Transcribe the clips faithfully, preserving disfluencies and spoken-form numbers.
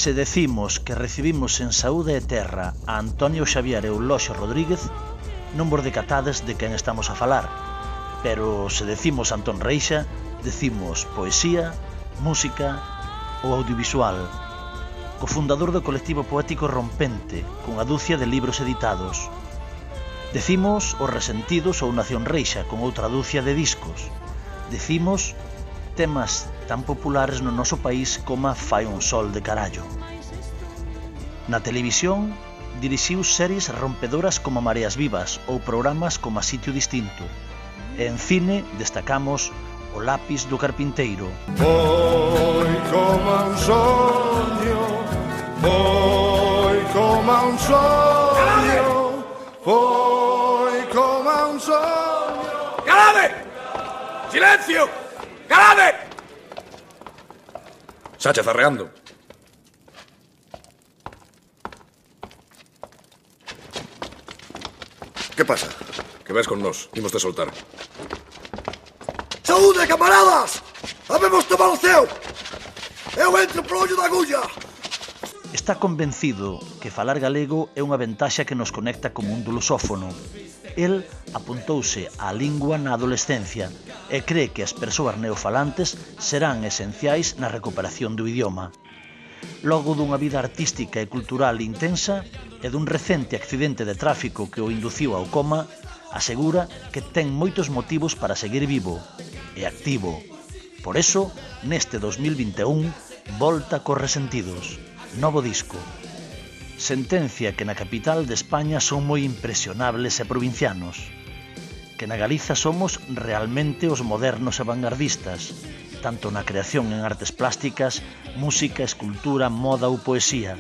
Se decimos que recibimos en saúde e terra a Antonio Xavier Euloxio Rodríguez, non vos decatades de quen estamos a falar, pero se decimos Antón Reixa, decimos poesía, música ou audiovisual, cofundador do colectivo poético Rompente, cunha dúcia de libros editados. Decimos Os Resentidos ou Nación Reixa, con outra dúcia de discos. Decimos temas tan populares no noso país como Fai un sol de carallo. Na televisión, dirixiu series rompedoras como Mareas Vivas ou programas como A Sitio Distinto. E en cine destacamos O Lápis do Carpinteiro. Foi como un soño, foi como un soño, foi como un soño. ¡Calade! ¡Silencio! ¡Calade! Sánchez arreando. ¿Qué pasa? Que ves con nós, imos de soltar. Saúde, camaradas! Habemos tomado o ceo! Eu entro polo ollo da agulla! Está convencido que falar galego é unha ventaxa que nos conecta como un lusófono. El apuntouse á lingua na adolescencia e cree que as persoas neofalantes serán esenciais na recuperación do idioma. Logo dunha vida artística e cultural intensa e dun recente accidente de tráfico que o induciu ao coma, asegura que ten moitos motivos para seguir vivo e activo. Por eso, neste dos mil vinte e un, volta cos Resentidos, novo disco. Sentencia que na capital de España son moi impresionables e provincianos, que na Galiza somos realmente os modernos e vanguardistas, tanto na creación en artes plásticas, música, escultura, moda ou poesía.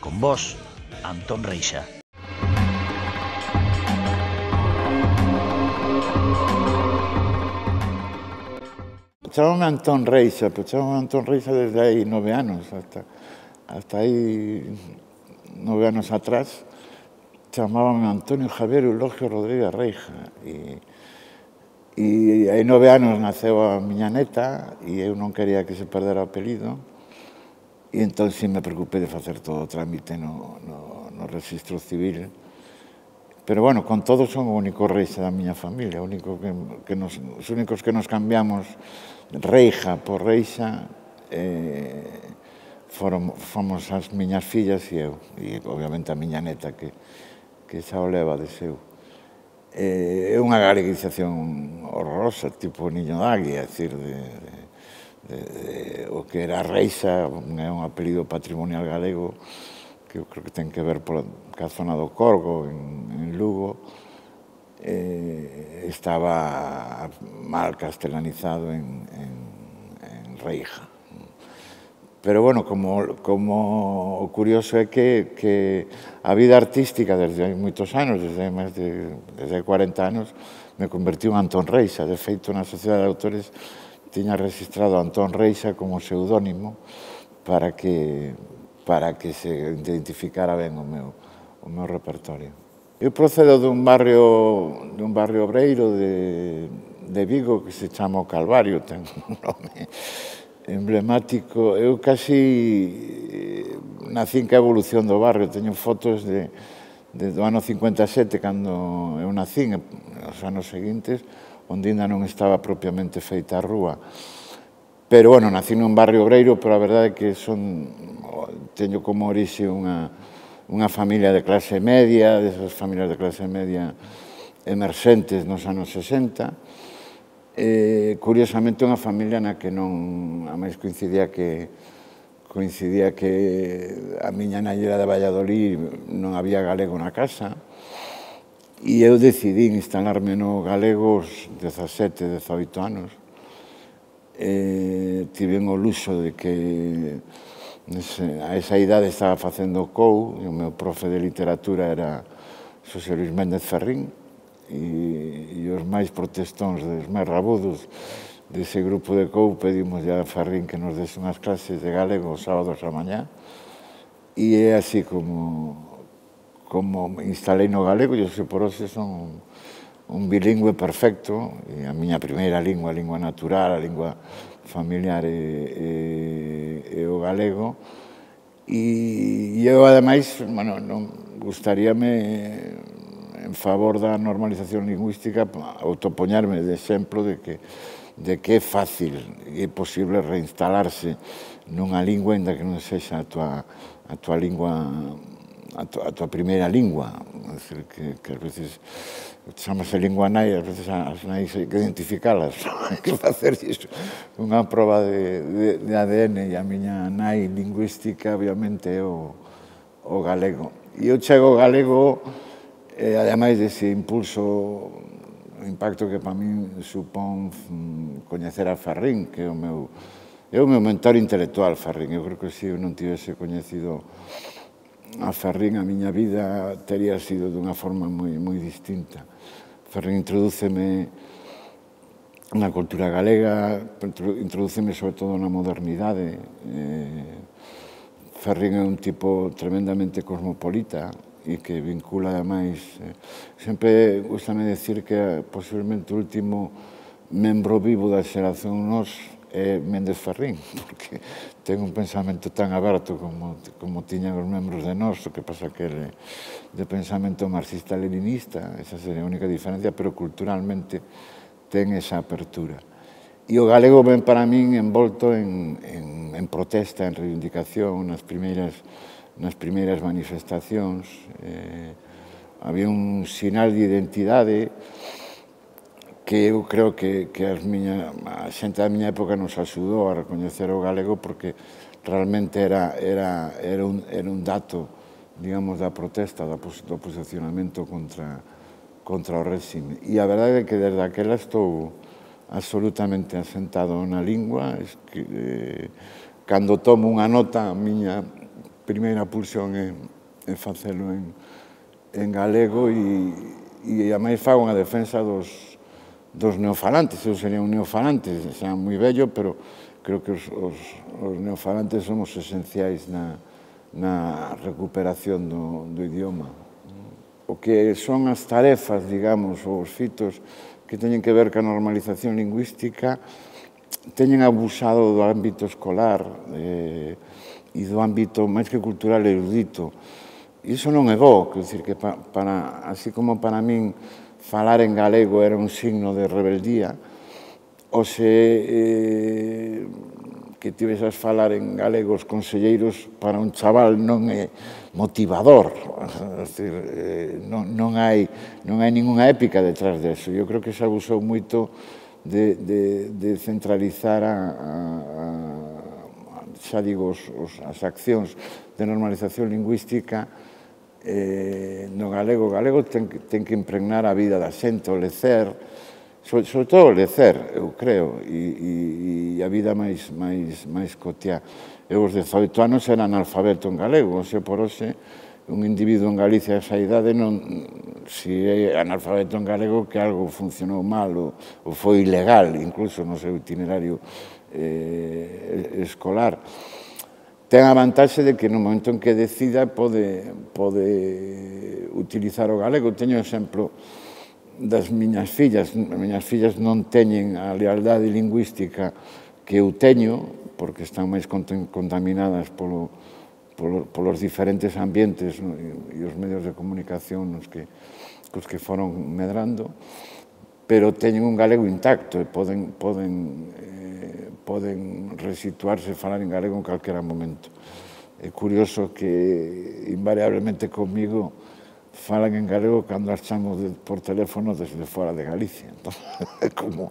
Con vos, Antón Reixa. Chámame Antón Reixa, pero chámame Antón Reixa desde hai nove anos, hasta, hasta aí nove anos atrás, chamábame Antonio Javier Euloxio Rodríguez Reixa, e, e hai nove anos naceu a miña neta, e eu non quería que se perdera o apelido, e entón si me preocupei de facer todo o trámite no, no, no registro civil. Pero, bueno, con todo son o único Reixa da miña familia, o único que, que nos, os únicos que nos cambiamos Reija por Reixa eh, foron, fomos as miñas fillas e eu, e obviamente a miña neta que, que xa o leva de seu. Eh, é unha galeguización horrorosa, tipo niño de águia, é dicir, de, de, de, de, o que era Reixa, é un apelido patrimonial galego que eu creo que ten que ver pola zona do Corgo, en, en Lugo, eh, estaba mal castelanizado en, en, en Reija. Pero, bueno, como, como o curioso é que, que a vida artística desde hai moitos anos, desde máis de desde cuarenta anos, me convertiu en Antón Reixa. De feito, na Sociedade de Autores tiña registrado Antón Reixa como pseudónimo para que, para que se identificara ben o meu, o meu repertorio. Eu procedo dun barrio, dun barrio obreiro de, de Vigo que se chama o Calvario, ten un nome emblemático. Eu casi nacín ca evolución do barrio, teño fotos de, de do ano cincuenta e sete, cando eu nacín, os anos seguintes, onde ainda non estaba propiamente feita a rúa. Pero, bueno, nací nun barrio obreiro, pero a verdade é que son, teño como orixe unha unha familia de clase media, desas familias de clase media emerxentes nos anos sesenta. Eh, curiosamente, unha familia na que non, a máis coincidía que coincidía que a miña nai era de Valladolid, non había galego na casa, e eu decidí instalarme no galego aos dezasete, dezaoito anos. Eh, tiven o luxo de que a esa idade estaba facendo C O U, e o meu profe de literatura era Xosé Luis Méndez Ferrín, e, e os máis protestóns, os máis rabudos dese grupo de C O U pedimos a Ferrín que nos dese unhas clases de galego os sábados a mañá, e é así como, como instalei no galego, e hoxe por hoxe son un bilingüe perfecto, e a miña primeira lingua, a lingua natural, a lingua familiar e, e, e o galego, E eu, ademais, bueno, non gustaríame, en favor da normalización lingüística, autopoñarme de exemplo de que de que é fácil e é posible reinstalarse nunha lingua ainda que non sexa a tua, a tua lingua, a tua, a tua primeira lingua. É dicir, que, que ás veces chamase lingua nai, ás veces as nais hai que identificalas, hai que facer iso. Unha proba de, de, de A D N, e a miña nai lingüística, obviamente, é o, o galego. E eu chego ao galego, e ademais dese impulso, o impacto que para min supón coñecer a Ferrín, que é o meu, é o meu mentor intelectual, Ferrín. Eu creo que se eu non tivese coñecido a Ferrín, a miña vida tería sido dunha forma moi, moi distinta. Ferrín introdúceme na cultura galega, introdúceme sobre todo na modernidade. Ferrín é un tipo tremendamente cosmopolita, e que vincula, ademais, eh, sempre gustame decir que posiblemente o último membro vivo da xeración nos é Méndez Ferrín, porque ten un pensamento tan aberto como, como tiñan os membros de nós, o que pasa que ele de pensamento marxista-leninista, esa sería a única diferencia, pero culturalmente ten esa apertura. E o galego ven para min envolto en, en, en protesta, en reivindicación, nas primeiras nas primeiras manifestacións. Eh, había un sinal de identidade que eu creo que, que as miña, a xente da miña época nos axudou a recoñecer o galego, porque realmente era, era, era, un, era un dato, digamos, da protesta, do, do posicionamento contra, contra o réxime. E a verdade é que desde aquela estou absolutamente asentado na lingua. Es que, eh, cando tomo unha nota, a miña primeira pulsión é, é facelo en, en galego, e, e a máis fago unha defensa dos, dos neofalantes. Eu sería un neofalante, xa moi vello, pero creo que os, os, os neofalantes somos esenciais na, na recuperación do, do idioma. O que son as tarefas, digamos, ou os fitos que teñen que ver ca normalización lingüística, teñen abusado do ámbito escolar, eh, e do ámbito máis que cultural erudito. Iso non é bo, quer dizer que pa, para, así como para min falar en galego era un signo de rebeldía, ou se eh, que tivesas falar en galego os conselleiros para un chaval non é motivador, é dicir, eh, non, non, hai, non hai ninguna épica detrás deso. Eu creo que se abusou moito de, de, de centralizar a, a, a xa digo, os, os, as accións de normalización lingüística eh, no galego. O galego ten, ten que impregnar a vida da xente, o lecer, sobre, sobre todo o lecer, eu creo, e, e, e a vida máis, máis, máis cotiá. Eu, os dezoito anos, era analfabeto en galego, xe por hoxe, un individuo en Galicia a esa idade, non, si é analfabeto en galego, que algo funcionou mal ou, ou foi ilegal, incluso no seu itinerario Eh, escolar. Ten a vantaxe de que no momento en que decida pode, pode utilizar o galego. Teño exemplo das miñas fillas. As miñas fillas non teñen a lealdade lingüística que eu teño, porque están máis contaminadas polo, polo, polos diferentes ambientes, no, e, e os medios de comunicación nos que, cos que foron medrando, pero teñen un galego intacto e poden, poden eh, poden resituarse e falar en galego en calquera momento. É curioso que invariablemente comigo falan en galego cando as chamo de, por teléfono desde fora de Galicia. Entón, é, como,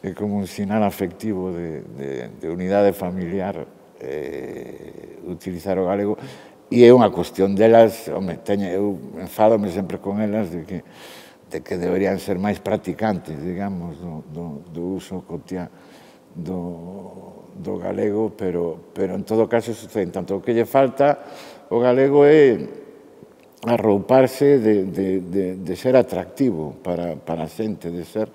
é como un sinal afectivo de, de, de unidade familiar eh, utilizar o galego, e é unha cuestión delas. Home, teño, eu enfádome sempre con elas de que, de que deberían ser máis practicantes, digamos, do, do, do uso cotiá Do, do galego, pero, pero en todo caso sucede. Tanto o que lle falta o galego é arrouparse de, de, de, de ser atractivo para, para a xente, de ser,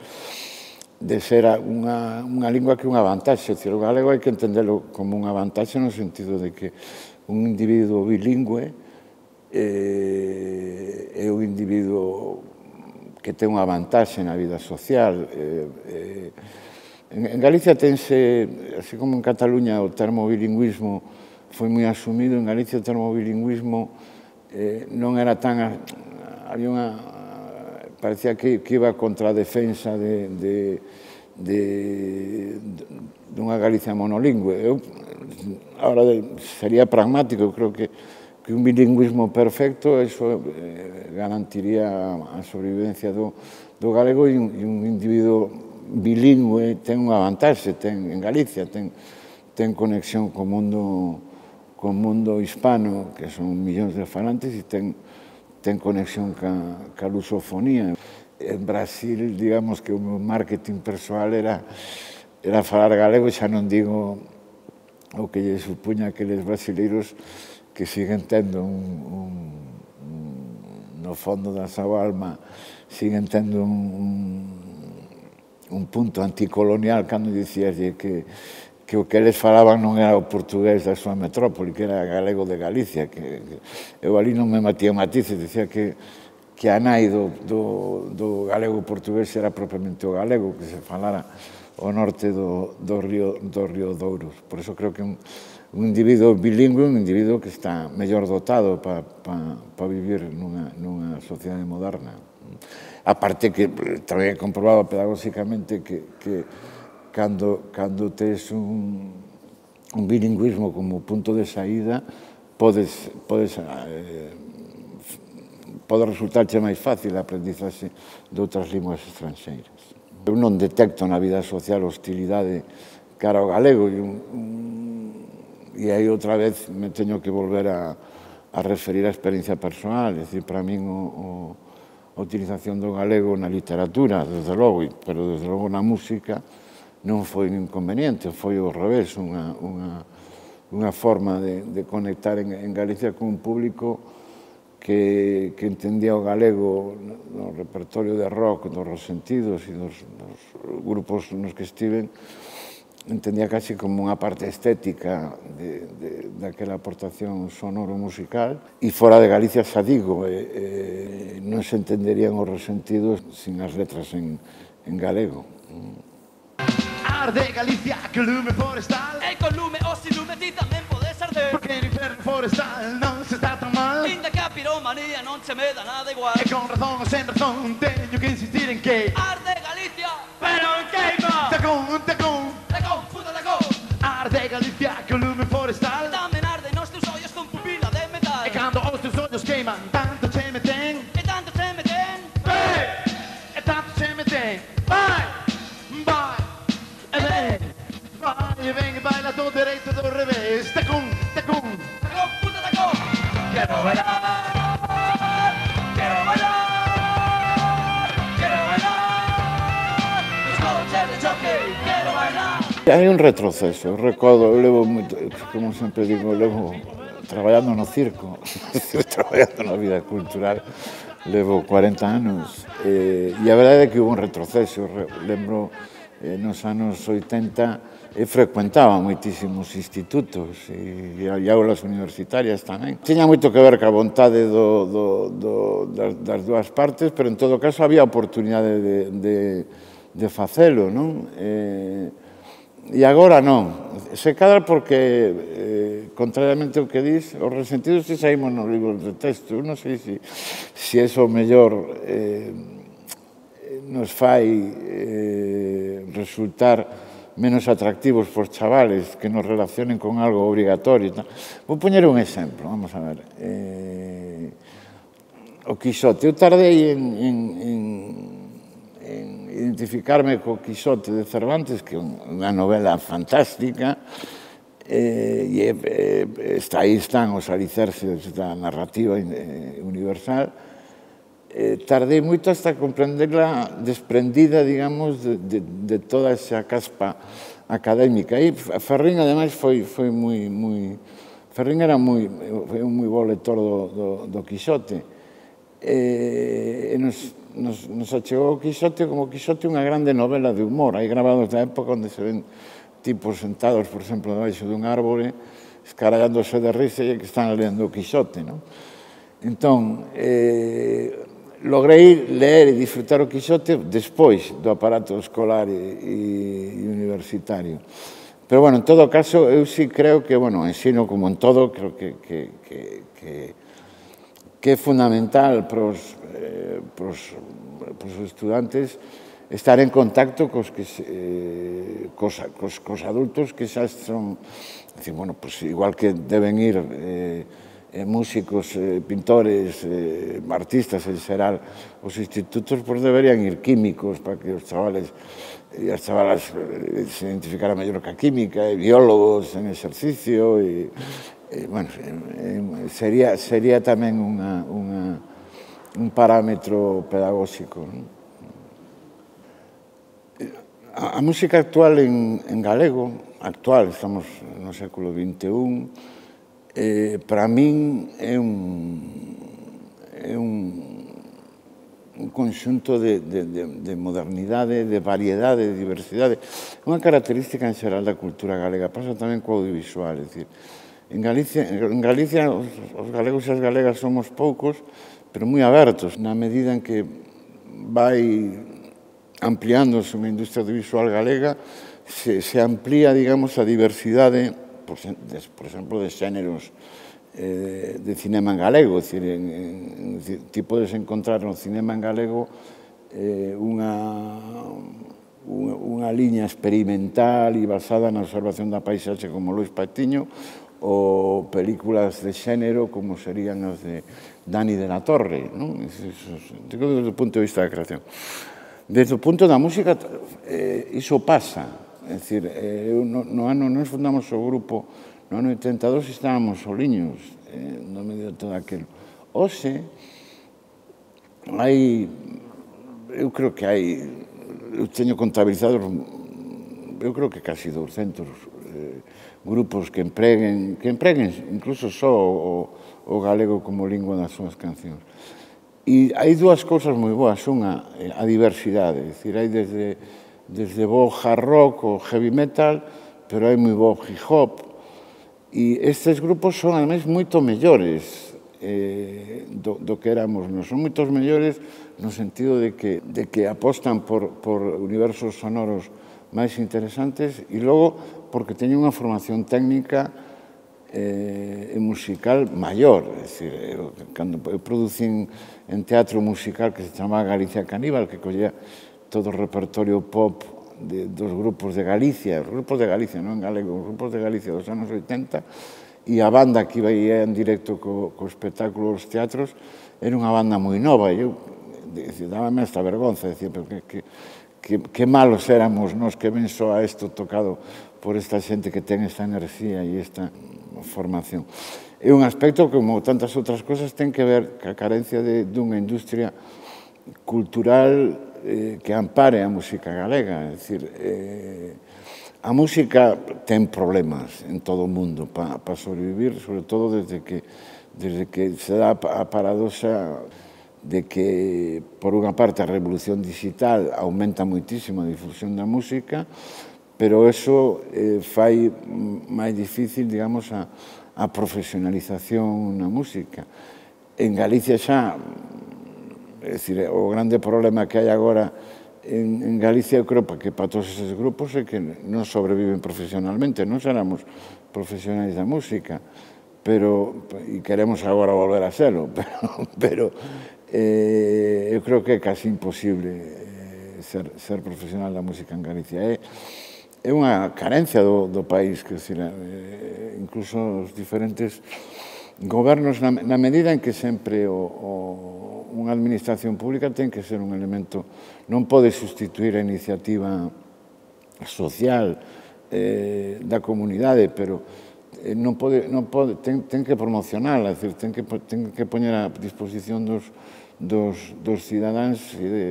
de ser unha, unha lingua que é unha vantaxe. O galego hai que entendelo como unha vantaxe no sentido de que un individuo bilingüe eh, é un individuo que ten unha vantaxe na vida social. Eh, eh, En Galicia tense, así como en Cataluña, o termo bilingüismo foi moi asumido. En Galicia o termo bilingüismo eh, non era tan... Había unha... Parecía que, que iba contra a defensa de, de, de, de unha Galicia monolingüe. Eu, ahora sería pragmático, creo que, que un bilingüismo perfecto, eso eh, garantiría a sobrevivencia do, do galego, e un, e un individuo bilingüe ten unha vantaxe, ten, en Galicia ten, ten conexión co mundo, co mundo hispano, que son millóns de falantes, e ten ten conexión ca, ca lusofonía. En Brasil, digamos que o meu marketing persoal era, era falar galego, xa non digo o que lle supuña aqueles brasileiros que siguen tendo un, un, un no fondo da súa alma, siguen tendo un, un, un punto anticolonial cando dicíaslle que que o que eles falaban non era o portugués da súa metrópoli, que era galego de Galicia, que, que eu ali non me matía matices, dicía que, que a nai do, do, do galego portugués era propiamente o galego, que se falara ao norte do, do, río, do río Douro. Por eso creo que un, un individuo bilingüe, un individuo que está mellor dotado para pa, pa vivir nunha, nunha sociedade moderna. A parte que tamén he comprobado pedagóxicamente que, que Cando, cando tes un, un bilingüismo como punto de saída, podes, podes, eh, pode resultarche máis fácil a aprendizaxe de outras linguas estranxeiras. Eu non detecto na vida social hostilidade cara ao galego, e, un, un, e aí outra vez me teño que volver a, a referir a experiencia persoal, é dicir, para min o, o, a utilización do galego na literatura, desde logo, pero desde logo na música, non foi un inconveniente, foi ao revés, unha, unha, unha forma de, de conectar en, en Galicia con un público que, que entendía o galego no repertorio de rock, dos Resentidos e dos, dos grupos nos que estiven, entendía casi como unha parte estética de, de, daquela aportación sonoro-musical, e fora de Galicia xa digo, eh, eh, non se entenderían os Resentidos sin as letras en, en galego. De Galicia, que lume forestal. E con lume ou sin lume ti tamén podes arder. Porque no inferno forestal non se está tan mal. Inda que a piromanía non se me dá nada igual. E con razón ou sen razón teño que insistir en que arde Galicia, pero en queima. Tacón, tacón, tacón, puta tacón. Arde Galicia, que lume forestal. Tamén arde nos teus ollos con pupila de metal. E cando os teus ollos queiman, tanto che me ten. E tanto che me ten. Hey! E tanto che me ten. Vai! Vai! E ven e baila do dereito do revés. Tacón, tacón, tacón, puta tacón. Quero bailar, quero bailar, quero bailar. Nos coches de choque, quero bailar. Hai un retroceso, eu recordo, eu levo moito, como sempre digo, levo traballando no circo, traballando na vida cultural, levo cuarenta anos, e, e a verdade é que hubo un retroceso, lembro, eh, nos anos oitenta, e frecuentaba moitísimos institutos e, e aulas universitarias tamén. Tiña moito que ver ca vontade do, do, do, das, das dúas partes, pero en todo caso había oportunidade de, de, de facelo, non? E, e agora non. Se cadra porque, eh, contrariamente ao que dis, os Resentidos si saímos nos libros de texto. Eu non sei se si, si eso mellor eh, nos fai eh, resultar menos atractivos por chavales que nos relacionen con algo obrigatorio. Vou poñer un exemplo, vamos a ver. Eh, o Quixote. Eu tardei en, en, en, en identificarme co Quixote de Cervantes, que é unha novela fantástica, eh, e eh, está, aí están os alicerces da narrativa eh, universal. Eh, tardei moito hasta comprenderla desprendida, digamos, de, de, de toda esa caspa académica. E Ferrín, ademais, foi, foi moi, moi... Ferrín era moi, foi un moi bo lector do, do, do Quixote. E, e nos, nos, nos achegou o Quixote como Quixote unha grande novela de humor. Hai grabados da época onde se ven tipos sentados, por exemplo, debaixo dun árbore, escarallándose de risa e que están lendo o Quixote, non? Entón, eh, logrei ler e disfrutar o Quixote despois do aparato escolar e, e universitario. Pero, bueno, en todo caso, eu sí creo que, bueno, ensino como en todo, creo que, que, que, que, que é fundamental para os, eh, para os, para os estudantes estar en contacto cos, que, eh, cos, cos, cos adultos que xa son, decir, bueno, pues igual que deben ir eh, eh, músicos, eh, pintores, eh, artistas en xeral, os institutos pues deberían ir químicos para que os chavales e as chavalas se identificaran mellor ca química, e biólogos en exercicio, e, e bueno, sería, sería tamén unha, unha, un parámetro pedagóxico. Non? A, a música actual en, en galego, actual, estamos no século vinte e un, eh, para min é un, é un un conxunto de, de, de, de modernidade, de variedade, de diversidade. Unha característica en xeral da cultura galega, pasa tamén co audiovisual, é dicir, en Galicia, en Galicia os, os galegos e as galegas somos poucos, pero moi abertos, na medida en que vai ampliándose unha industria audiovisual galega, se, se amplía, digamos, a diversidade, por, de, por exemplo, de xéneros Eh, de cinema en galego, é dicir, en, en, ti podes encontrar no cinema en galego eh, unha, unha, unha liña experimental e basada na observación da paisaxe como Luis Patiño, ou películas de xénero como serían as de Dani de la Torre, non? Digo desde o punto de vista da creación. Desde o punto da música, eh, iso pasa, é dicir, eh, no, no ano nos fundamos o grupo. No ano oitenta e dos estábamos soliños eh, no medio de todo aquilo. Oxe, hai, eu creo que hai, eu teño contabilizados, eu creo que casi douscentos eh, grupos que empreguen, que empreguen incluso só o, o galego como lingua das súas cancións. E hai dúas cousas moi boas, unha, a diversidade, é dicir, hai desde, desde bo hard rock ou heavy metal, pero hai moi bo hip hop. E estes grupos son, ademais, moito mellores eh, do, do que éramos nós. Son moitos mellores no sentido de que, de que apostan por, por universos sonoros máis interesantes e logo porque teñen unha formación técnica eh, e musical maior. É dicir, eu, cando eu producín en teatro musical que se chamaba Galicia Caníbal, que collía todo o repertorio pop De, dos grupos de Galicia, os grupos de Galicia, non en galego, os grupos de Galicia dos anos oitenta, e a banda que iba en directo co, co espectáculo dos teatros era unha banda moi nova, e eu dábame esta vergonza, decía, pero que, que, que, que malos éramos nós que ven só a isto tocado por esta xente que ten esta enerxía e esta formación. É un aspecto que, como tantas outras cosas, ten que ver ca carencia de, dunha industria cultural eh, que ampare a música galega. É dicir, eh, a música ten problemas en todo o mundo para pa sobrevivir, sobre todo desde que, desde que se dá a paradoxa de que, por unha parte, a revolución digital aumenta moitísimo a difusión da música, pero eso eh, fai máis difícil, digamos, a, a profesionalización na música. En Galicia xa, é dicir, o grande problema que hai agora en, en Galicia, eu creo que para todos eses grupos é que non sobreviven profesionalmente, non seramos profesionais da música, pero, e queremos agora volver a serlo, pero, pero eh, eu creo que é casi imposible eh, ser, ser profesional da música en Galicia. É, é unha carencia do, do país, que decir, eh, incluso os diferentes gobernos, na, na medida en que sempre o, o unha administración pública ten que ser un elemento, non pode sustituir a iniciativa social eh, da comunidade, pero eh, non pode, non pode, ten, ten que promocionala, é dicir, ten que, ten que poñer a disposición dos, dos, dos cidadáns e de,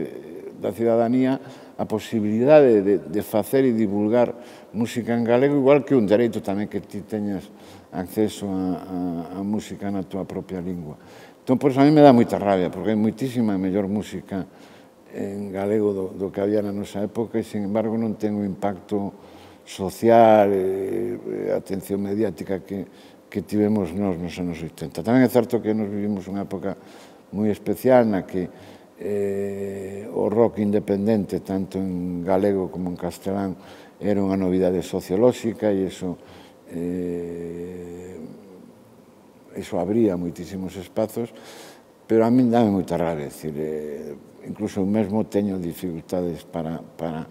da cidadanía a posibilidade de, de facer e divulgar música en galego, igual que un dereito tamén que ti teñas acceso a, a, a música na tua propia lingua. Entón, por eso a mí me dá moita rabia, porque hai moitísima mellor música en galego do, do que había na nosa época e, sin embargo, non ten o impacto social e, e atención mediática que, que tivemos nós nos anos oitenta. Tamén é certo que nos vivimos unha época moi especial na que eh, o rock independente, tanto en galego como en castelán, era unha novidade sociolóxica e iso eh, iso abría moitísimos espazos, pero a min dame moita rabia, decir, eh, incluso mesmo teño dificultades para, para,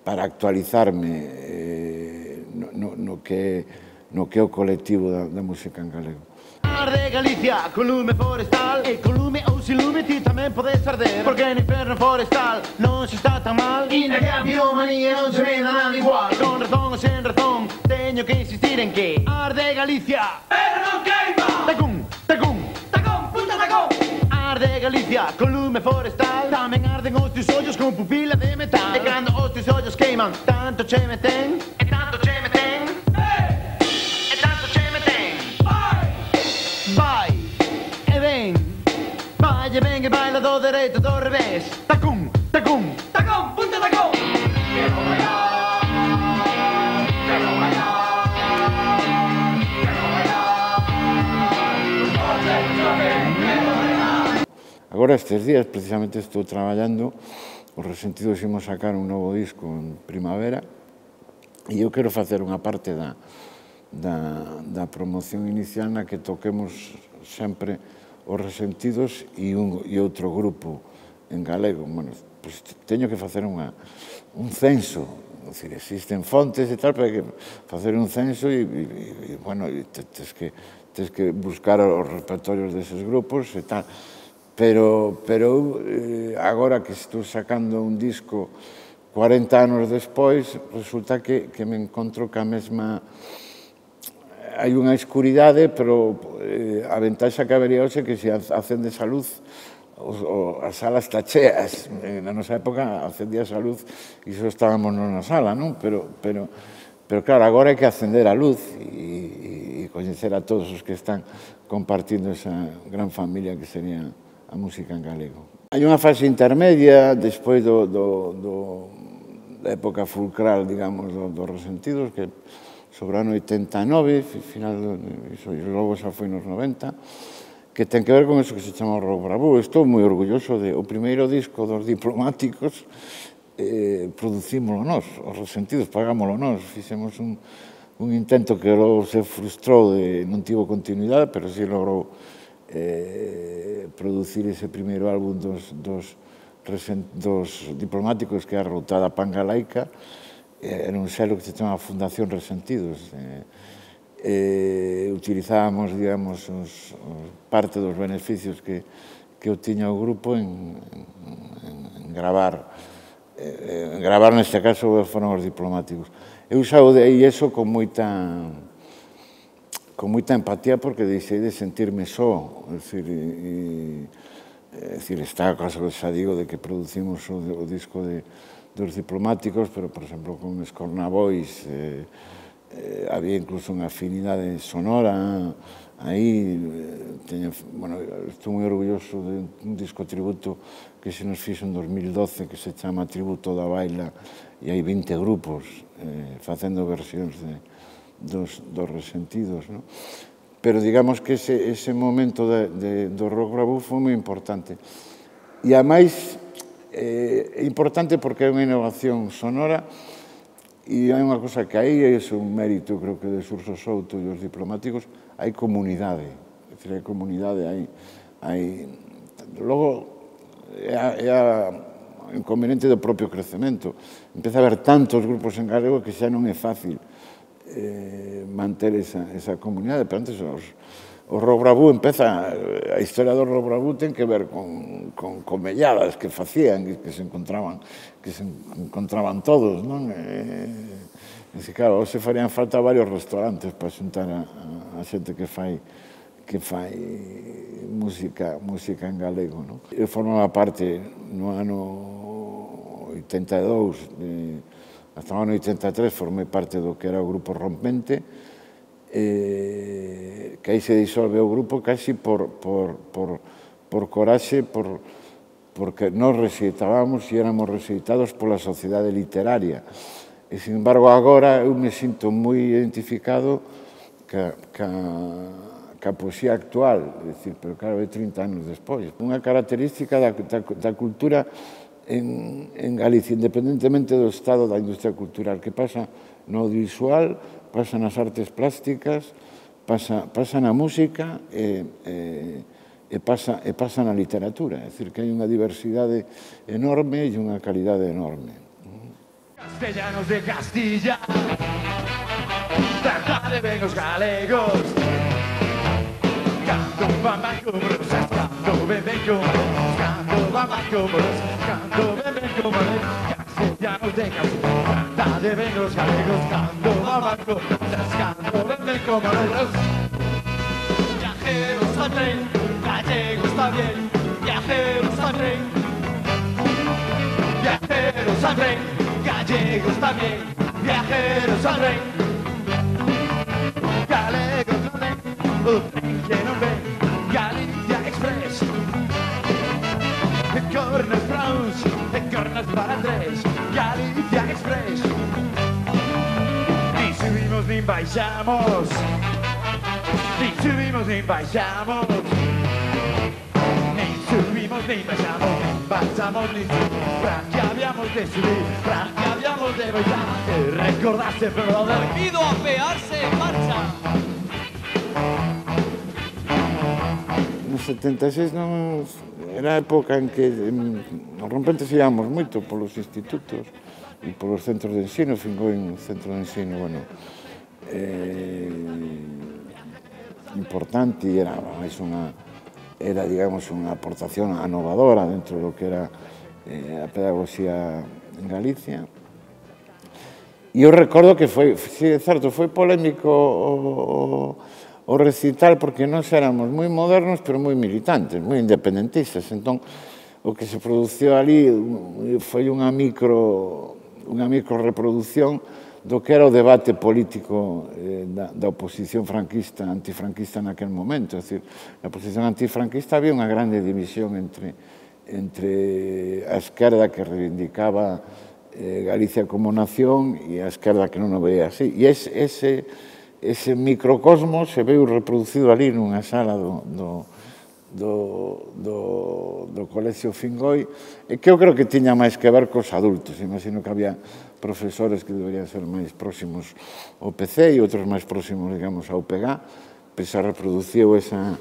para actualizarme eh, no, no, no, que, no que é o colectivo da, da música en galego. De Galicia, con lume forestal e con lume ou sin lume ti tamén podes arder, porque no inferno forestal non se está tan mal e na guerra biomanía non se ve nada igual. E con razón ou sen razón teño que insistir en que arde Galicia, pero non queima. Tacún, tacún, tacón, punta tacón. Arde Galicia, con lume forestal tamén arden os teus ollos con pupila de metal. E cando os teus ollos queiman, tanto che meten, e tanto che meten, e tanto che meten. Vai e ven, vai e ven e baila do dereito, do revés. Tacún, tacún, tacón, punta tacón. Quero bailar, quero bailar, quero bailar. Agora estes días precisamente estou traballando, os Resentidos imos sacar un novo disco en primavera e eu quero facer unha parte da Da, da promoción inicial na que toquemos sempre os Resentidos e, un, e outro grupo en galego. Bueno, pues teño que facer unha, un censo, decir, existen fontes e tal, pero hai que facer un censo e, e, e bueno, e tes que, tes que buscar os repertorios deses grupos e tal. Pero, pero eh, agora que estou sacando un disco cuarenta anos despois, resulta que, que me encontro ca mesma... Hai unha escuridade, pero eh, a ventaxa que habería hoxe que se acendes a luz, os, o, as salas está cheas. Na nosa época acendías a luz e só estábamos na sala, non? Pero, pero, pero claro, agora hai que acender a luz e, e coñecer a todos os que están compartindo esa gran familia que sería a música en galego. Hai unha fase intermedia, despois do, do, do, da época fulcral, digamos, do, dos Resentidos, que sobre o ano oitenta e nove, final, iso, logo xa foi nos noventa, que ten que ver con eso que se chama o rock bravú. Estou moi orgulloso de o primeiro disco dos Diplomáticos, eh, producímolo nós, os Resentidos, pagámolo nós, fixemos un, un intento que logo se frustrou, de, non tivo continuidade, pero si logrou eh, producir ese primeiro álbum dos, dos, dos Diplomáticos, que é a Routada Pangalaica. Era un selo que se chama Fundación Resentidos. Eh, eh, utilizábamos, digamos, os, os parte dos beneficios que, que obtiña o grupo en, en, en gravar. Eh, en gravar, neste caso, foron os Diplomáticos. Eu saudei eso con moita con moita empatía, porque deixei de sentirme só. É dicir, e, é dicir, está a cosa que xa digo de que producimos o, o disco de dos Diplomáticos, pero, por exemplo, con Escornabois eh, eh, había incluso unha afinidade sonora aí. Eh, teño, bueno, estou moi orgulloso de un disco tributo que se nos fixo en dos mil doce, que se chama Tributo da Baila, e hai vinte grupos eh, facendo versións de, dos, dos Resentidos, ¿no? Pero digamos que ese, ese momento de, de, do rock bravú foi moi importante. E, ademais, é importante porque é unha innovación sonora e hai unha cosa que aí é un mérito, creo que, de Xurxo Souto e os Diplomáticos, hai comunidade. É dicir, hai comunidade, hai... hai... Logo, é a, é a inconveniente do propio crecemento. Empeza a haber tantos grupos en galego que xa non é fácil eh, manter esa, esa comunidade, pero antes os... O rock bravú empeza, a historia do rock bravú ten que ver con, con comelladas que facían, que, que se encontraban, que se encontraban todos, non? E, e, claro, hoxe farían falta varios restaurantes para xuntar a, a, a xente que fai que fai música, música en galego, non? Eu formaba parte no ano oitenta e dous, de, hasta o ano oitenta e tres formei parte do que era o Grupo Rompente, Eh, que aí se disolve o grupo casi por, por, por, por coraxe, por, porque nos rexeitábamos e éramos rexeitados pola sociedade literaria. E, sin embargo, agora eu me sinto moi identificado ca, ca, ca poesía actual, é dicir, pero claro, é trinta anos despois. Unha característica da, da, da cultura en, en Galicia, independentemente do estado da industria cultural, que pasa no audiovisual, pasa nas artes plásticas, pasa, pasa na música e, e, e, pasa, e pasa na literatura. É dicir, que hai unha diversidade enorme e unha calidade enorme. Castellanos de Castilla, de ven os galegos, canto bamba como los, canto ben ben como los, canto bamba como los, canto ben ben como los, castellanos de Castilla, de ven os galegos, canto bamba como los, canto ben ben como los. Viajeros al tren, gallegos también, viajeros al tren, viajeros al tren, gallegos también, viajeros al tren. Galegos non ven, o tren que non ven, Galicia Express. De cornes para uns, de cornes para tres, Galicia Express. Ni subimos ni baixamos, ni subimos ni baixamos, ni subimos ni baixamos, ni baixamos ni subimos, para que habíamos de subir, para que habíamos de baixar, que recordaste pero de Prohibido apearse en marcha. No setenta e seis non era a época en que nos rompentes íamos moito polos institutos e polos centros de ensino, Fingoi un centro de ensino, bueno, eh, importante, e era máis unha, era, digamos, unha aportación anovadora dentro do que era eh, a pedagogía en Galicia. E eu recordo que foi, sí, é certo, foi polémico o, o recital porque nós éramos moi modernos pero moi militantes, moi independentistas. Entón, o que se produciu ali foi unha micro, unha micro reproducción do que era o debate político eh, da, da oposición franquista, antifranquista naquel momento. É dicir, na oposición antifranquista había unha grande división entre, entre a esquerda que reivindicaba eh, Galicia como nación e a esquerda que non o veía así. E ese, ese, ese microcosmos se veu reproducido ali nunha sala do, do, do, do, do Colegio Fingoi, e que eu creo que tiña máis que ver cos adultos. Imagino que había profesores que deberían ser máis próximos ao P C e outros máis próximos, digamos, ao P G A, pois se reproduciu esa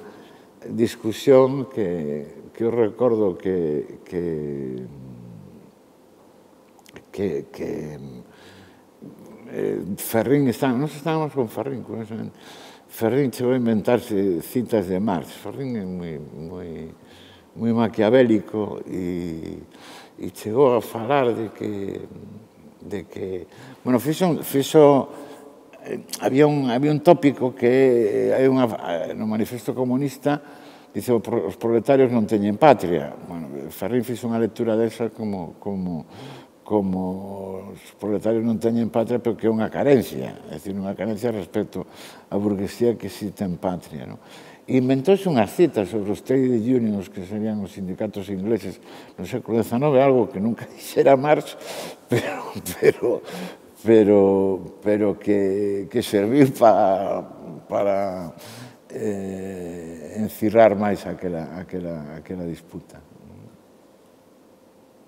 discusión que, que eu recordo que, que que, que eh, Ferrín, está, nos estábamos con Ferrín, con eso, Ferrín chegou a inventarse citas de Marx. Ferrín é moi, moi, moi maquiavélico e, e chegou a falar de que, de que bueno, fixo, fixo eh, había, un, había un tópico que hai unha, no Manifesto Comunista dice, os proletarios non teñen patria. Bueno, Ferrín fixo unha lectura desa como, como como os proletarios non teñen patria, pero que é unha carencia, é dicir, unha carencia respecto á burguesía que sí ten patria. No? Inventouse unhas citas sobre os trade unions, que serían os sindicatos ingleses no século dezenove, algo que nunca dixera Marx, pero, pero, pero, pero que, que serviu para, para eh, encirrar máis aquela, aquela, aquela disputa.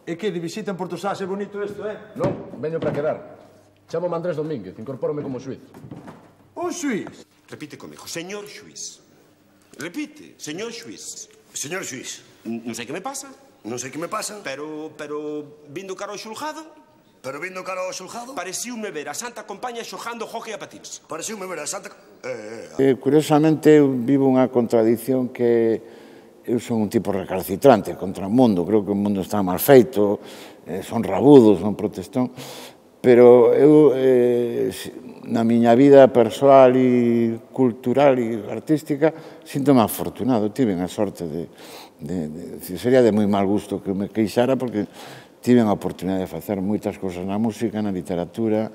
E que, de visita en Porto Sás, é bonito isto, eh? Non, veño para quedar. Chamo-me Andrés Domínguez, incorpórome como xuiz. Un xuiz? Repite comigo, señor xuiz. Repite, señor xuiz. Señor xuiz. Non sei que me pasa. Non sei que me pasa. Pero, pero, vindo cara ao xulgado... Pero vindo cara ao xulgado... Pareciume ver a Santa Compaña xogando hockey a patins. Pareciume ver a Santa... Eh, eh. Curiosamente, eu vivo unha contradición que eu son un tipo recalcitrante contra o mundo, creo que o mundo está mal feito, eh, son rabudos, son protestón, pero eu, eh, na miña vida persoal e cultural e artística, sinto-me afortunado, tive a sorte de, de, de, sería de moi mal gusto que me queixara, porque tive a oportunidade de facer moitas cousas na música, na literatura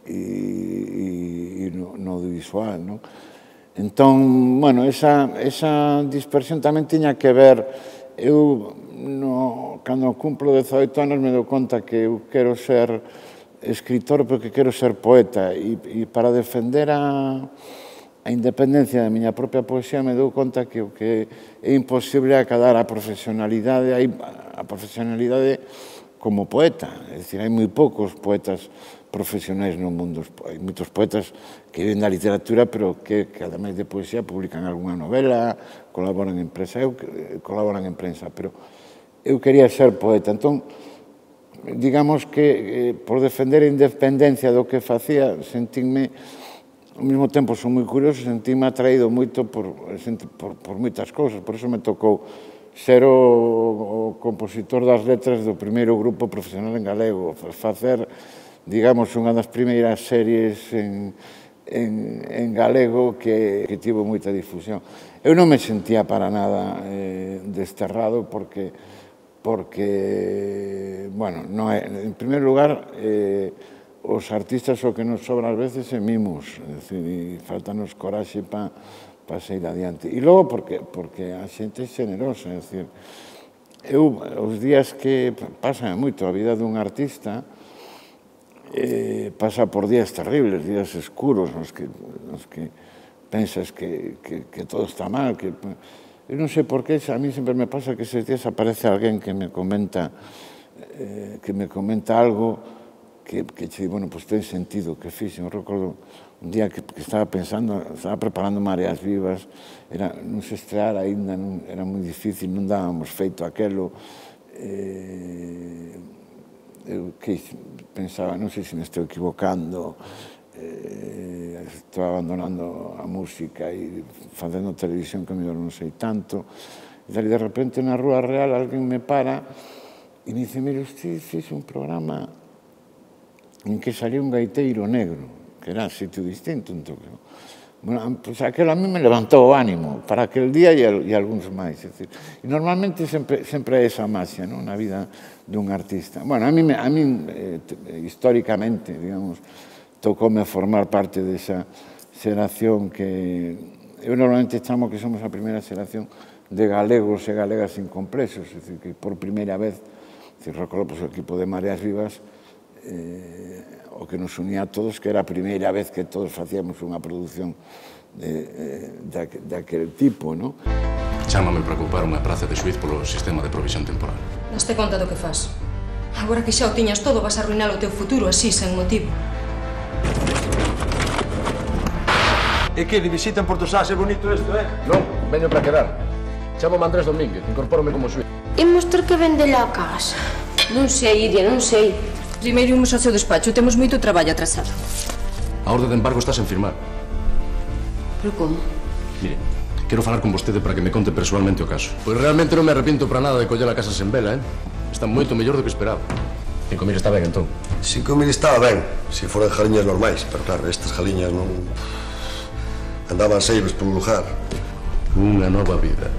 e, e, e no, no audiovisual, non? Entón, bueno, esa, esa dispersión tamén tiña que ver, eu, no, cando cumplo dezaoito anos, me dou conta que eu quero ser escritor, pero que quero ser poeta, e, e para defender a, a independencia da miña propia poesía me dou conta que o que é imposible acadar a profesionalidade, a profesionalidade como poeta. É dicir, hai moi poucos poetas profesionais no mundo. Hai moitos poetas que viven da literatura, pero que, que ademais de poesía, publican algunha novela, colaboran en prensa, eu colaboran en prensa, pero eu quería ser poeta. Entón, digamos que eh, por defender a independencia do que facía, sentínme, ao mesmo tempo son moi curioso, sentínme atraído moito por, por, por moitas cousas, por iso me tocou ser o, o compositor das letras do primeiro grupo profesional en galego, facer, digamos, unha das primeiras series en, en, en galego que, que tivo moita difusión. Eu non me sentía para nada eh, desterrado porque, porque, bueno, non é, en primeiro lugar, eh, os artistas o que nos sobra ás veces é mimos, é dicir, e faltanos coraxe para para seguir adiante. E logo porque, porque a xente é generosa, é dicir, eu, os días que pasan moito a vida dun artista, eh, pasa por días terribles, días escuros, nos que, nos que pensas que, que, que todo está mal, que... Eu non sei por qué, a mí sempre me pasa que eses días aparece alguén que me comenta, eh, que me comenta algo que, que che di, bueno, pois ten sentido, que fixe. Eu recordo un día que, que estaba pensando, estaba preparando Mareas Vivas, era, non se estrear ainda, non, era moi difícil, non dábamos feito aquelo. Eh, eu que pensaba, non sei se me estou equivocando, eh, estou abandonando a música e facendo televisión que mellor non sei tanto. E de repente na Rúa Real alguén me para e me dice, mire, usted fixe un programa en que salió un gaiteiro negro, que era un sitio distinto. Entón, bueno, pues aquelo a mí me levantou o ánimo para aquel día e, e algúns máis. É dicir, e normalmente sempre, sempre é esa máxia, non, na vida dun artista. Bueno, a mí, a mí eh, históricamente, digamos, tocoume formar parte desa xeración que eu normalmente chamo que somos a primeira xeración de galegos e galegas incomplexos, é dicir, que por primeira vez, se recordo, pues, o equipo de Mareas Vivas, eh, o que nos unía a todos, que era a primeira vez que todos facíamos unha produción de, de, de aquel tipo, non? Chámame para ocupar unha praza de xuiz polo sistema de provisión temporal. Daste conta do que fas. Agora que xa o tiñas todo, vas a arruinar o teu futuro así, sen motivo. E que, de visita en Porto Sás, é bonito isto, eh? Non, veño para quedar. Chámame Andrés Domínguez, incorpórome como xuiz. Imos ter que vender a casa. Non sei, Iria, non sei. Primeiro imos ao seu despacho, temos moito traballo atrasado. A orde de embargo está sen firmar. Pero como? Mire, quero falar con vostede para que me conte personalmente o caso. Pois realmente non me arrepiento para nada de coller a casa sen vela, eh? Está moito mellor do que esperaba. Cinco mil está ben, entón? Cinco mil estaba ben, se foran jaliñas normais, pero claro, estas jaliñas non... andaban seibes polo lugar. Unha nova vida.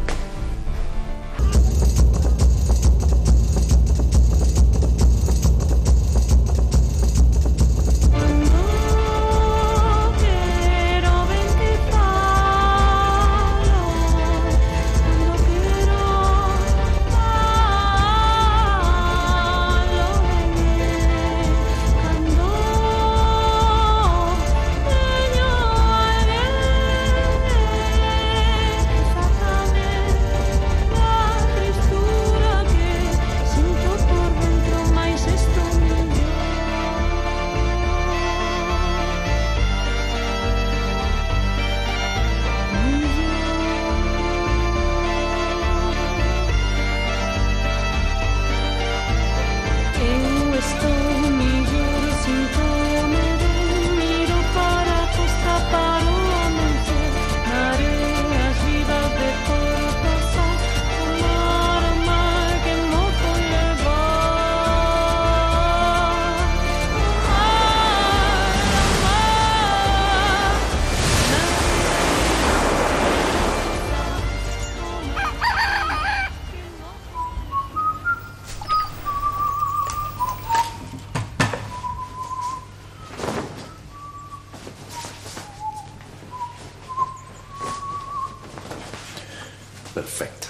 Perfecto.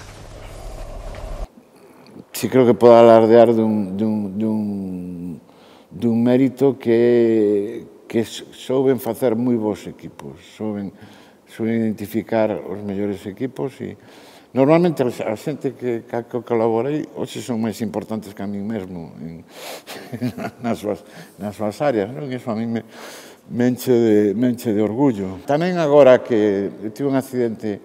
Sí, creo que podo alardear dun, dun, dun, dun mérito que, que souben facer moi bons equipos, souben suelen identificar os mellores equipos e normalmente a xente que colaborei hoxe son máis importantes que a mí mesmo nas súas áreas, non? Iso a mí me enche de orgullo. Tamén agora que eu tive un accidente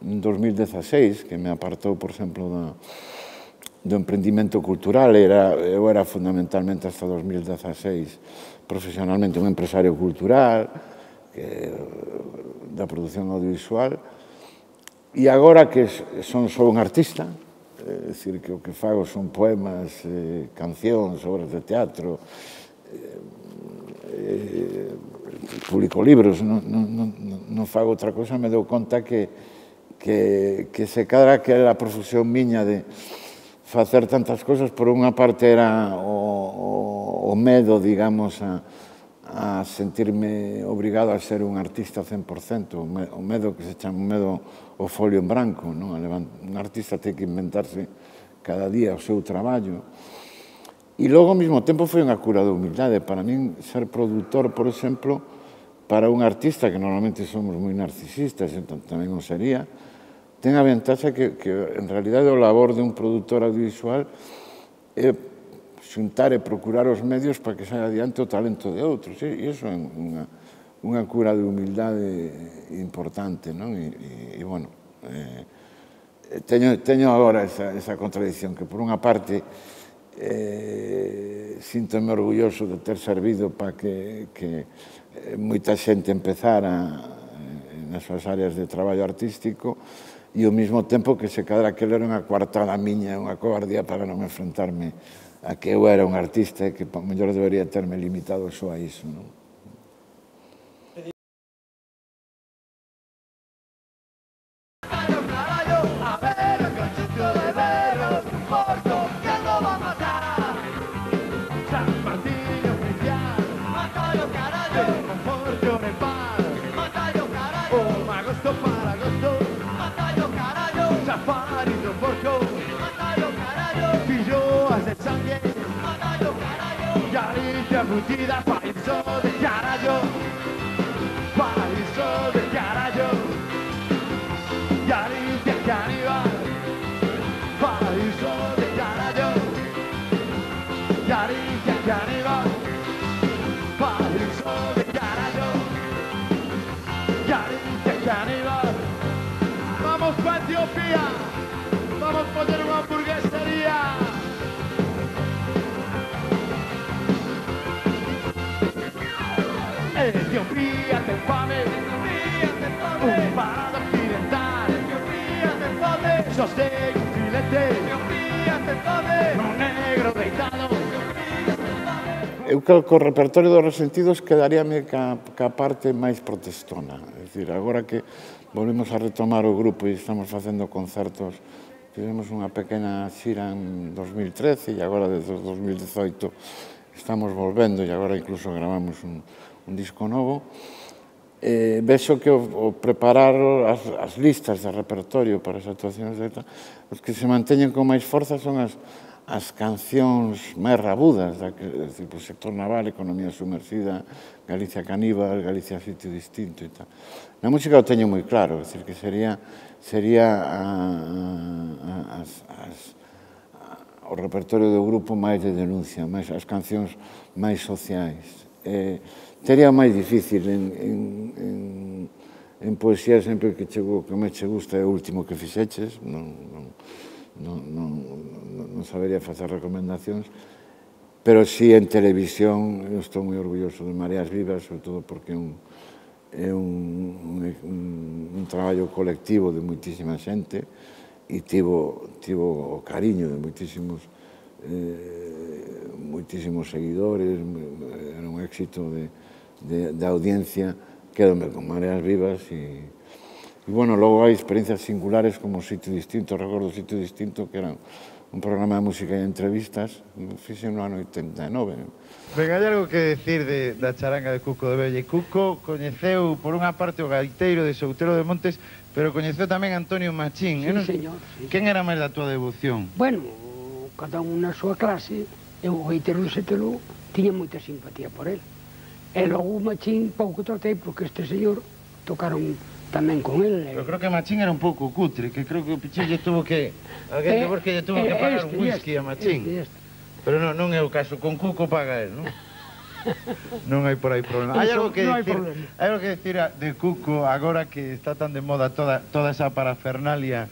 en dos mil dezaseis que me apartou, por exemplo, do emprendimento cultural. Eu era fundamentalmente hasta dos mil dezaseis profesionalmente un empresario cultural da produción audiovisual e agora que son só un artista, é dicir, que o que fago son poemas, cancións, obras de teatro, publico libros, non fago outra cosa, me dou conta que se cadra que a profusión miña de facer tantas cosas, por unha parte era o medo, digamos, a sentirme obrigado a ser un artista cen por cento, o medo que se chama o medo ao folio en branco. Un artista ten que inventarse cada día o seu traballo. E logo, ao mesmo tempo, foi unha cura de humildade. Para min, ser produtor, por exemplo, para un artista, que normalmente somos moi narcisistas, entón tamén non sería, ten a ventaxa que, en realidade, o labor de un produtor audiovisual é xuntar e procurar os medios para que saia adiante o talento de outros. E iso é unha cura de humildade importante, non? E, bueno, teño agora esa contradicción, que por unha parte síntome orgulloso de ter servido para que moita xente empezara nas súas áreas de traballo artístico, e ao mesmo tempo que se cadra que era unha coartada miña, unha cobardía para non enfrentarme a que eu era un artista e que ao mellor debería terme limitado só a iso, non? Embutida, país de carallo, país de carallo, Galicia caníbal, país de carallo, Galicia caníbal, país de carallo, Galicia caníbal. Vamos pa Etiopía, vamos poner unha hamburguesería. Etiopía ten fame, un parado occidental. Etiopía ten fame, sostén un filete. Etiopía ten fame, un negro deitado. Eu creo que o repertorio dos Resentidos quedaríame ca parte máis protestona. É dicir, agora que volvemos a retomar o grupo e estamos facendo concertos, fizemos unha pequena xira en dos mil trece e agora desde dos mil dezoito estamos volvendo e agora incluso gravamos un un disco novo. Vexo que o preparar as listas de repertorio para as actuacións de ETA, os que se manteñen con máis forza son as cancións máis rabudas, do sector naval, economía sumergida, Galicia caníbal, Galicia sitio distinto e tal. Na música o teño moi claro, é dicir, que sería o repertorio do grupo máis de denuncia, as cancións máis sociais. Sería máis difícil en poesía, sempre que me che gusta é o último que fixeches, non sabería facer recomendacións, pero si en televisión eu estou moi orgulloso de Mareas Vivas, sobre todo porque é un traballo colectivo de moitísima xente e tivo o cariño de moitísimos moitísimos seguidores, era un éxito de audiencia. Quédome con Mareas Vivas e, bueno, logo hai experiencias singulares como Sitio Distinto. Recordo Sitio Distinto, que era un programa de música e entrevistas, fixen no ano oitenta e nove. Ben, hai algo que decir da charanga de Cuco de Vella. Cuco coñeceu, por unha parte, o gaiteiro de Soutelo de Montes, pero coñeceu tamén Antonio Machín. Sí, señor. Quen era máis da túa devoción? Bueno, cada un na súa clase, e o gaiteiro de Soutelo tiña moita simpatía por él. E logo o Machín pouco tratei, porque este señor tocaron tamén con el. Eu creo que Machín era un pouco cutre, que creo que o Pichín lle tuvo que... Alguén de vos que lle tuvo que pagar un whisky a Machín. Pero non, non é o caso, con Cuco paga él, non? Non hai por aí problema. Hai algo que decir, hai algo que decir de Cuco agora que está tan de moda toda, toda esa parafernalia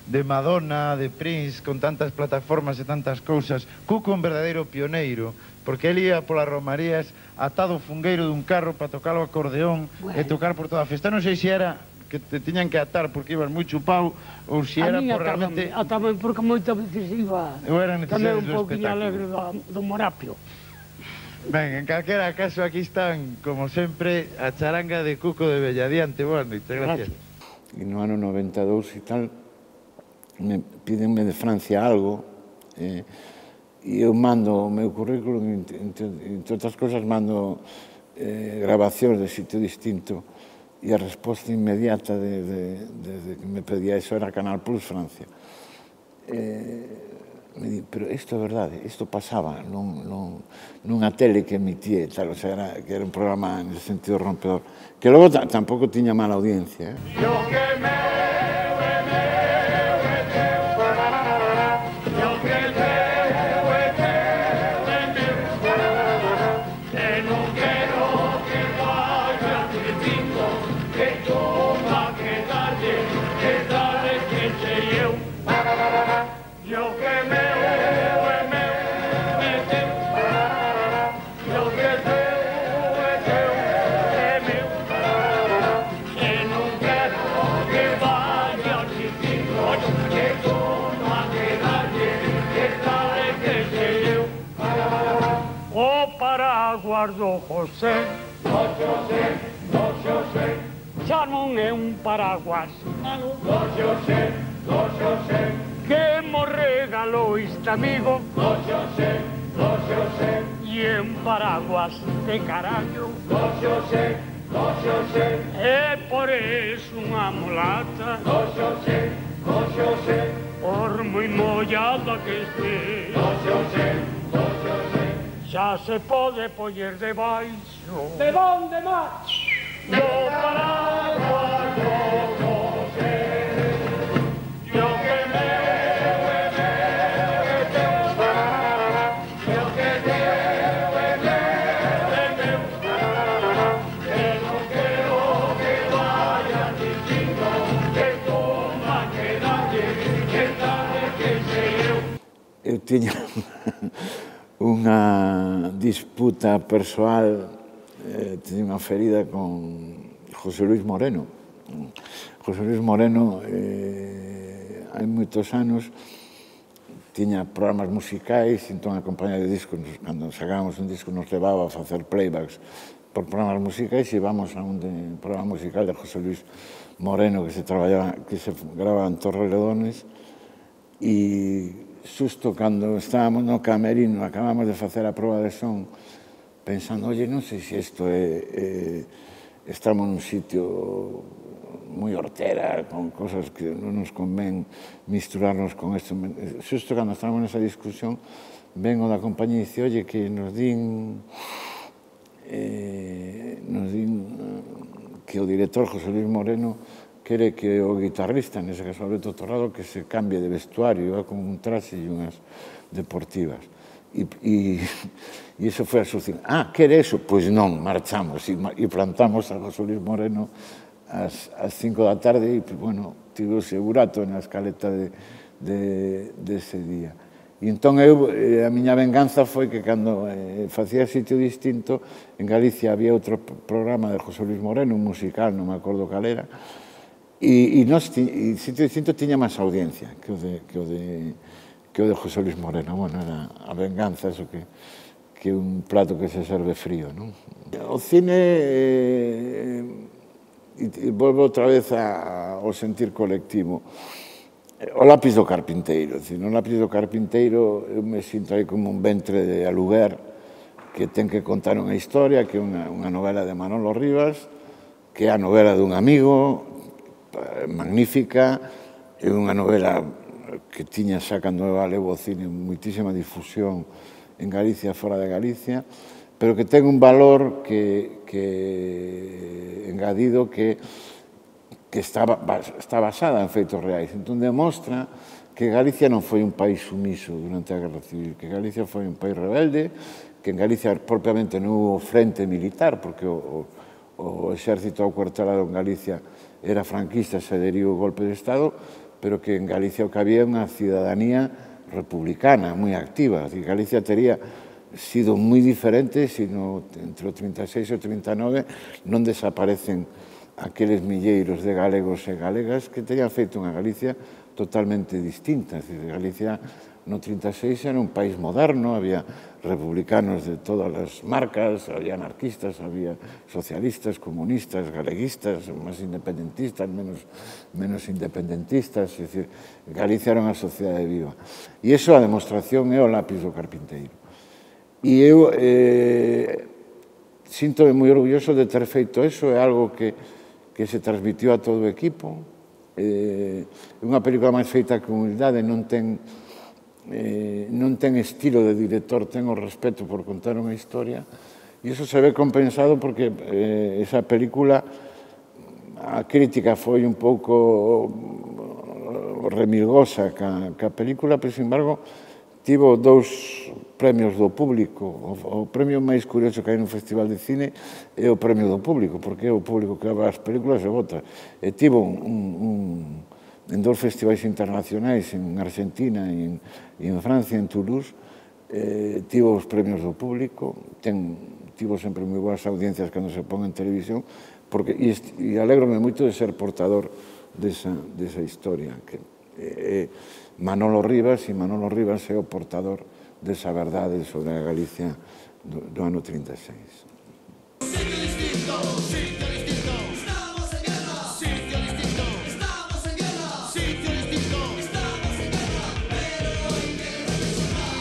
de Madonna, de Prince, con tantas plataformas e tantas cousas. Cuco é un verdadeiro pioneiro, porque ele ia polas romarías atado o fungueiro dun carro para tocar o acordeón bueno. e tocar por toda a festa. Non sei se era que te tiñan que atar porque ibas moi chupado ou se era por realmente... A tamén porque moitas veces iba tamén un pouquinho alegre do, do Morapio. Ben, en calquera caso aquí están, como sempre, a charanga de Cuco de Belladiante. Boa noite, gracias. E no ano noventa e dous e tal, me pídenme de Francia algo, e eu mando o meu currículo, entre outras cosas, mando grabacións de Sitio Distinto, e a resposta inmediata desde que me pedía eso era Canal Plus Francia. Me di, pero isto é verdade, isto pasaba nunha tele que emitía, tal, o sea, que era un programa en ese sentido rompedor, que logo tampouco tiña mala audiencia. Guardo José, no José, no José, xa non é un paraguas, no José, no José, que mo regalou este amigo, no José, no José, e un paraguas de carallo, no José, no José, e por eso unha mulata, no José, no José, por moi mollada que este, no José, no José, xa se pode poñer debaixo. De onde máis? Do paraguas do José. Yo que meu é meu é teu, yo que teu é meu é meu, que non quero que vaya dicindo que toma que dalle, que dalle que sei eu. Eu tiña unha disputa persoal, eh, tiña unha ferida con José Luis Moreno. José Luis Moreno, eh, hai moitos anos, tiña programas musicais, entón a compañía de discos, cando sacábamos un disco, nos levaba a facer playbacks por programas musicais e íbamos a un de, programa musical de José Luis Moreno que se traballaba, que se grababa en Torrelodones, e xusto cando estábamos no camerino, acabamos de facer a proba de son, pensando, oye, non sei se isto é... Estamos nun sitio moi hortera, con cosas que non nos convén misturarnos con isto. Xusto cando estábamos nesa discusión, vengo da compañía e dice, oye, que nos din... Nos din que o director José Luis Moreno quere que o guitarrista, nese caso Alberto Torrado, que se cambie de vestuario, con un traxe e unhas deportivas. E iso foi a solución. Ah, quere eso? Pois non, marchamos e plantamos a José Luis Moreno ás cinco da tarde e, bueno, tivo o segurato na escaleta dese día. E entón eu, a miña venganza foi que cando facía Sitio Distinto, en Galicia había outro programa de José Luis Moreno, un musical, non me acordo cal era, e Sitio Distinto tiña máis audiencia que o de que o de José Luis Moreno. Bueno, era a venganza, eso que que un plato que se serve frío, non? O cine, e volvo outra vez ao sentir colectivo, o lápiz do carpinteiro. No lápiz do carpinteiro eu me sinto aí como un ventre de aluguer que ten que contar unha historia, que é unha novela de Manolo Rivas, que é a novela dun amigo, magnífica, é unha novela que tiña xa cando eu levo o cine moitísima difusión en Galicia e fora de Galicia, pero que ten un valor que engadido que que está, está basada en feitos reais. Entón, demostra que Galicia non foi un país sumiso durante a Guerra Civil, que Galicia foi un país rebelde, que en Galicia propiamente non hubo frente militar, porque o, o, o exército acuartelado en Galicia era franquista, se adheriu ao golpe de Estado, pero que en Galicia o que había unha cidadanía republicana moi activa. Decir, Galicia tería sido moi diferente se no, entre o trinta e seis e o trinta e nove non desaparecen aqueles milleiros de galegos e galegas que terían feito unha Galicia totalmente distinta. Es decir, Galicia no trinta e seis era un país moderno, había republicanos de todas as marcas, había anarquistas, había socialistas, comunistas, galeguistas, máis independentistas, menos, menos independentistas. Es decir, Galicia era unha sociedade viva. E iso a demostración é o lápis do carpinteiro. E eu eh, sinto-me moi orgulloso de ter feito eso, é algo que, que se transmitió a todo o equipo. É unha película máis feita que humildade, non ten, eh, non ten estilo de director, ten o respeto por contar unha historia, e iso se ve compensado porque eh, esa película, a crítica foi un pouco remilgosa ca, ca película, pero, sin embargo, tivo dous premios do público. O, o premio máis curioso que hai nun festival de cine é o premio do público, porque é o público que va as películas e vota. E tivo un, un, en dous festivais internacionais, en Argentina e en, e en Francia, en Toulouse, eh, tivo os premios do público, ten, tivo sempre moi boas audiencias cando se pon en televisión, porque, e, e alégrome moito de ser portador desa, desa historia, que é eh, Manolo Rivas, e Manolo Rivas é o portador desa verdade sobre a Galicia do, do ano trinta e seis. Sitio distinto, sitio distinto, estamos en guerra. Sitio distinto, estamos en guerra. Sitio distinto, estamos en guerra. Pero hay que reflexionar.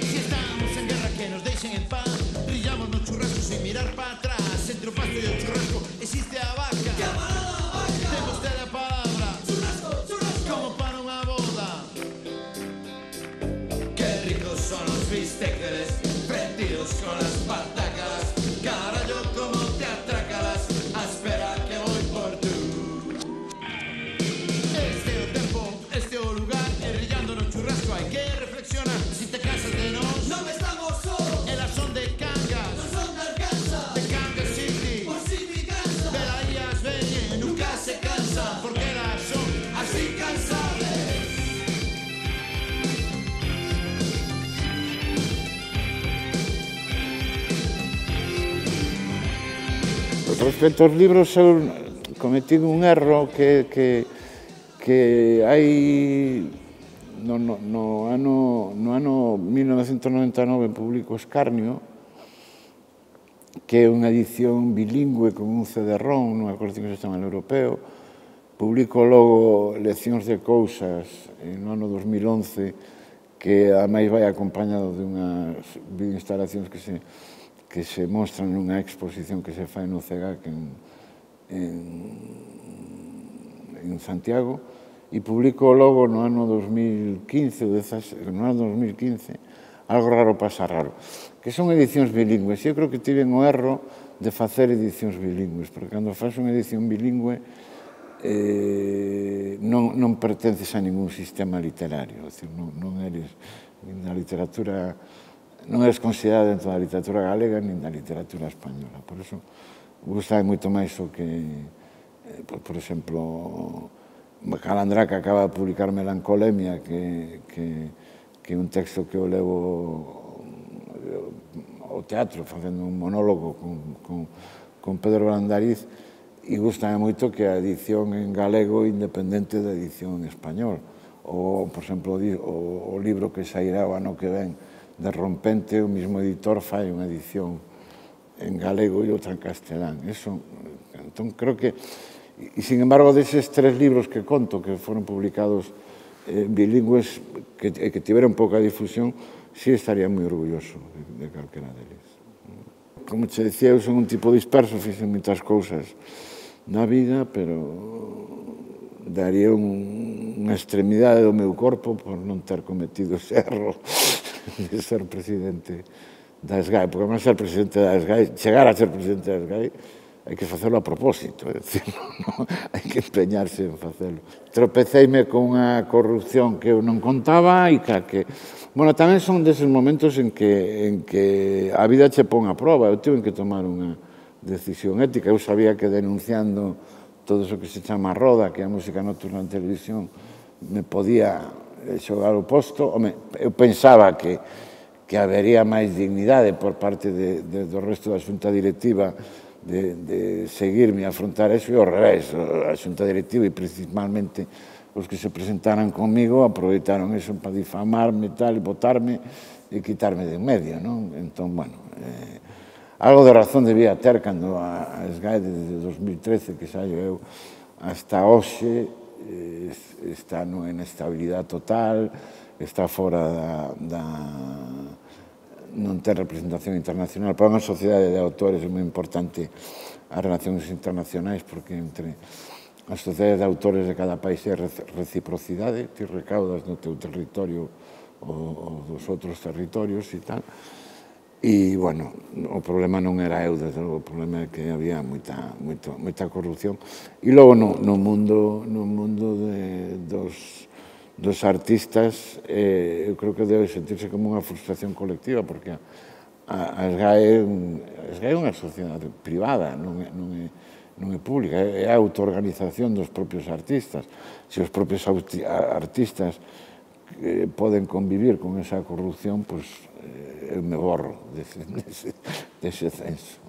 Si estamos en guerra, que nos deixen en paz. Brillamos no churrasco sin mirar para atrás. Entre o pasto e o churrasco existe a vaca. Camarada vaca. Ten vostede a palabra. Churrasco, churrasco. Como para unha boda. Qué ricos son los bisteces, prendidos con las patacas. Carallo, como te atracalas, a esperar que voy por tú. Este o tempo, este o lugar, enrillando no churrasco hai que reflexionar. Si te cansas de nos, non estamos solos. Elas son de Cangas, non son de Arkansas, de Kansas City, por si mi casa. De la ellas veñen, nunca se cansan, porque elas son así cansables. Respecto aos libros, eu cometí un erro que, que, que hai no, no, no, ano, no ano mil novecentos noventa e nove publico Escarnio, que é unha edición bilingüe con un C D ROM, non acordo que se chama el europeo. Publico logo Leccións de Cousas no ano dos mil once, que ademais vai acompañado de unhas videoinstalacións que se que se mostran nunha exposición que se fai no CEGAC en, en, en Santiago, e publico logo no ano dos mil quince, no ano dos mil quince, Algo raro pasa raro, que son edicións bilingües. Eu creo que tiven o erro de facer edicións bilingües, porque cando faz unha edición bilingüe eh, non, non pertences a ningún sistema literario, é dicir, non, non eres na literatura... non és considerada dentro da literatura galega nin da literatura española. Por iso, gustame moito máis o que, por, por exemplo, Calandraca acaba de publicar Melancolemia, que, que, que é un texto que eu levo ao teatro, facendo un monólogo con, con, con Pedro Brandariz, e gustame moito que a edición en galego independente da edición en español. Ou, por exemplo, o, o libro que sairá o ano que ven, de Rompente, o mismo editor fai unha edición en galego e outra en castelán. Eso, entón, creo que... E, sin embargo, deses tres libros que conto, que foron publicados eh, bilingües, que, que tiveron pouca difusión, sí estaría moi orgulloso de, de calquera deles. Como che decía, eu son un tipo disperso, fixen moitas cousas na vida, pero daría un, unha extremidade do meu corpo por non ter cometido ese erro de ser presidente da S G A E, porque non ser presidente da S G A E, chegar a ser presidente da S G A E, hai que facelo a propósito, é dicir, non, hai que empeñarse en facelo. Tropeceime con unha corrupción que eu non contaba e que, bueno, tamén son deses momentos en que, en que a vida che pon a prova, eu tive que tomar unha decisión ética, eu sabía que denunciando todo iso que se chama roda, que é a música nocturna en televisión, me podía xogar o posto. Home, eu pensaba que, que habería máis dignidade por parte de, de, do resto da xunta directiva de, de seguirme a afrontar eso, e ao revés, a xunta directiva e principalmente os que se presentaran comigo aproveitaron eso para difamarme e tal, e botarme e quitarme de en medio, non? Entón, bueno, eh, algo de razón debía ter cando a S G A E desde dos mil trece que saio eu hasta hoxe está nunha inestabilidade total, está fora da non ter representación internacional. Para unha sociedade de autores é moi importante as relacións internacionais porque entre as sociedades de autores de cada país é reciprocidade, ti recaudas no teu territorio ou dos outros territorios e tal. E, bueno, o problema non era eu, desde logo, o problema é que había moita, moita, moita corrupción. E logo, no, no mundo, no mundo de, dos, dos artistas, eh, eu creo que debe sentirse como unha frustración colectiva, porque a, a S G A E é unha sociedade privada, non é, non é, non é pública, é a autoorganización dos propios artistas. Se os propios artistas eh, poden convivir con esa corrupción, pois, eu me borro dese, dese, dese censo.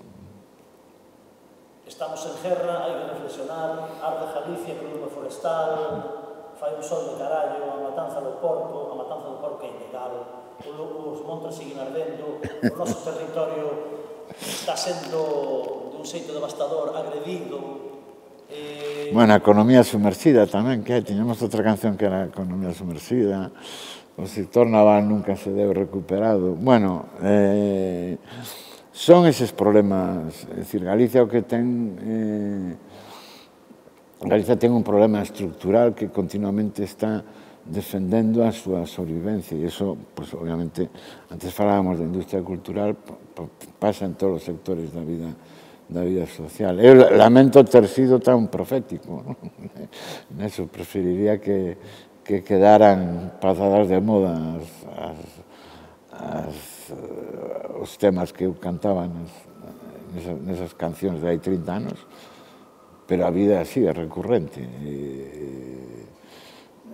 Estamos en guerra, hai que reflexionar, arde Galicia con lume forestal, fai un sol de carallo, a matanza do porco, a matanza do porco é ilegal, os montes siguen ardendo, o noso territorio está sendo de un xeito devastador, agredido. Eh... Bueno, a economía sumerxida tamén, que hai, tiñamos outra canción que era a economía sumerxida. O sector naval nunca se deu recuperado. Bueno, eh, son eses problemas. É dicir, Galicia o que ten... Eh, Galicia ten un problema estructural que continuamente está defendendo a súa sobrevivencia. E iso, pues, obviamente, antes falábamos de industria cultural, pasa en todos os sectores da vida da vida social. Eu lamento ter sido tan profético, ¿no? Neso preferiría que que quedaran pasadas de moda as, as, as, os temas que eu cantaba nas, nesas, nesas cancións de hai trinta anos, pero a vida así é recurrente.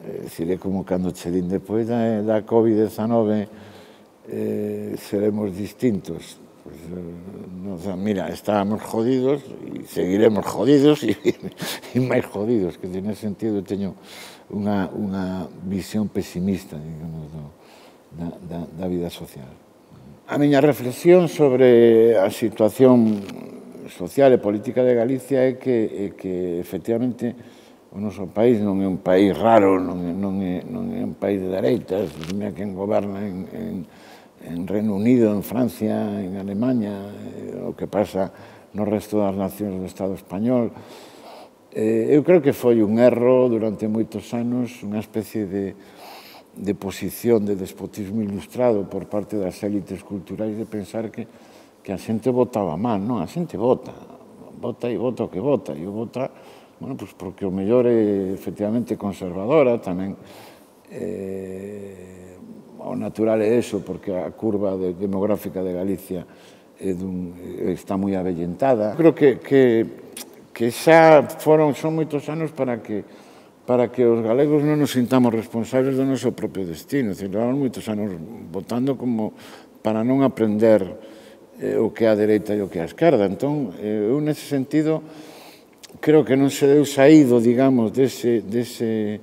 É dicir, é como cando che din depois da, da covid diecinueve eh, seremos distintos. Pues, nos, mira, estábamos jodidos e seguiremos jodidos e, e máis jodidos, que en ese sentido teño unha, unha visión pesimista, digamos, do, da, da, da vida social. A miña reflexión sobre a situación social e política de Galicia é que, é que efectivamente, o noso país non é un país raro, non é, non é, non é un país de dereitas, mira quen goberna en, en en Reino Unido, en Francia, en Alemanha, o que pasa no resto das nacións do Estado español. Eu creo que foi un erro durante moitos anos, unha especie de, de posición de despotismo ilustrado por parte das élites culturais de pensar que, que a xente votaba mal. Non, a xente vota, vota e vota o que vota, e o vota, bueno, pues porque o mellor é efectivamente conservadora, tamén eh, o natural é eso, porque a curva de, demográfica de Galicia é dun, está moi avellentada. Creo que, que, que xa foron, son moitos anos para que, para que os galegos non nos sintamos responsables do noso propio destino. Levamos moitos anos votando como para non aprender eh, o que é a dereita e o que é a esquerda. Entón, eh, eu nese sentido, creo que non se deu saído, digamos, dese... dese